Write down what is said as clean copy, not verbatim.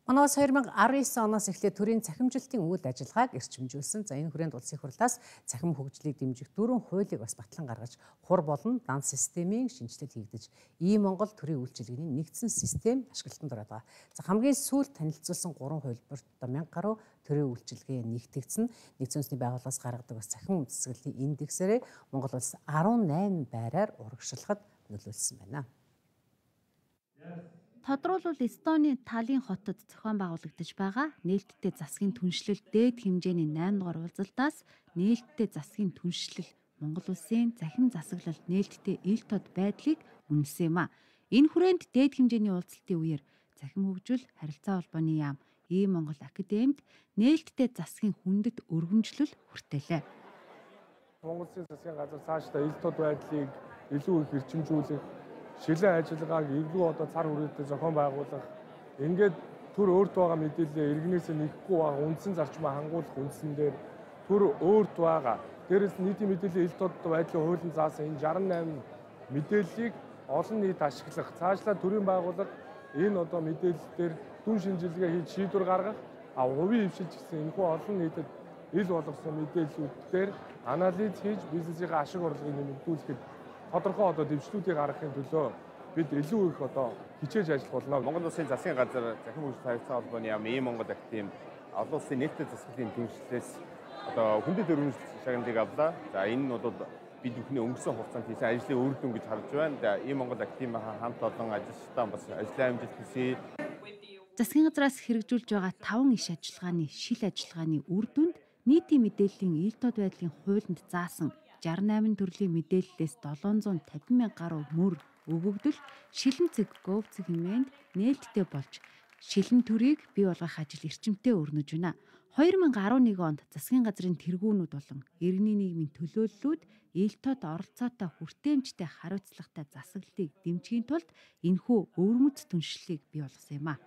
Оноос 2019 оноос эхлээд төрийн цахимжилтын үйл ажиллагааг эрчимжүүлсэн. Энэ хүрээнд улсын хурлаас цахим хөгжлийг дэмжих 4 хуулийг бас батлан гаргаж, хур болон дан системийн шинжилэл хийгдэж, Монгол төрийн үйлчилгээний нэгдсэн систем ашиглалтанд ороод байгаа. Хамгийн сүүлд танилцуулсан 3 хувилбарт 1000 гаруй төрийн үйлчилгээ нэгтгэгдсэн. Нэгдсэн үндэсний байгууллагаас гаргадаг бас цахим үндэслэлийн индексээрээ Монгол улс 18 байраар урагшлахад нөлөөлсөн байна. Тодруулбал Эстонийн Таллин хотод зохион байгуулагдаж байгаа нээлттэй засгийн түншлэл дээд хэмжээний 8 дугаар уулзалтаас нээлттэй засгийн түншлэл Монгол улсын цахим засаглалт нээлттэй ил тод байдлыг үнэлсэн юм а. Энэ хүрээнд дээд хэмжээний уулзалтын үеэр цахим хөгжил харилцаа холбооны яам Монгол академид нээлттэй засгийн хүндэт өргөмжлөл хүртээлээ. Монгол улсын засгийн газар цаашдаа ил тод байдлыг илүү их эрчимжүүлэх, шилэн ажиллагааг илүү цар хүрээтэй зохион байгуулах, ингээд төр өөрт байгаа мэдээлэл иргэнээс нэхгүй байгаа үндсэн зарчмаа хангуулах үндсэн дээр төр өөрт байгаа. Дээрээс нийтийн мэдээллийн ил тод байдлын хуулийн заасан энэ 68 мэдээллийг олон нийт ашиглах, цаашлаа төрийн байгууллага энэ мэдээлэлээр дүн шинжилгээ хийж шийдвэр гаргах, хувийн хвшилж гэсэн энэхүү олон нийтэд ил болгосон мэдээллүүдээр анализ хийж бизнесийн ашиг орлогыг нэмэгдүүлэхэд тодорхой дэвшлүүдийг гаргахын төлөө бид илүү их хичээж ажиллах болно. Монгол улсын засгийн газар цахим хөгжил харилцаа холбооны яам Монгол академи олон улсын нээлттэй засаглалын түншлэлээс хүндэт өргөмжлөлт шагналыг авлаа. За энэ нь бид бүхний өнгөрсөн хугацаанд хийсэн ажлын үр дүн гэж харж байна. За Монгол академийн хамт олон ажилчдаа бас ажлын амжилт хүсье. Засгийн газраас хэрэгжүүлж байгаа 5 иш ажиллагааны шил ажиллагааны үр дүнд нийтийн мэдээллийн ил тод байдлын хуулинд заасан 68 төрлийн мэдээллээс 750 мянга гаруй мөр өгөгдөл шилэн цэг говцэг хэмээнд нээлттэй болж шилэн төрийг бий болгох ажил эрчимтэй өрнөж байна. 2011 онд засгийн газрын тэргүүнүүд болон иргэний нийгмийн төлөөллүүд ил тод оролцоотой хүртээмжтэй хариуцлагатай засаглалыг дэмжихийн тулд энэхүү өвөрмөц түншлэлийг бий болгосон юм а.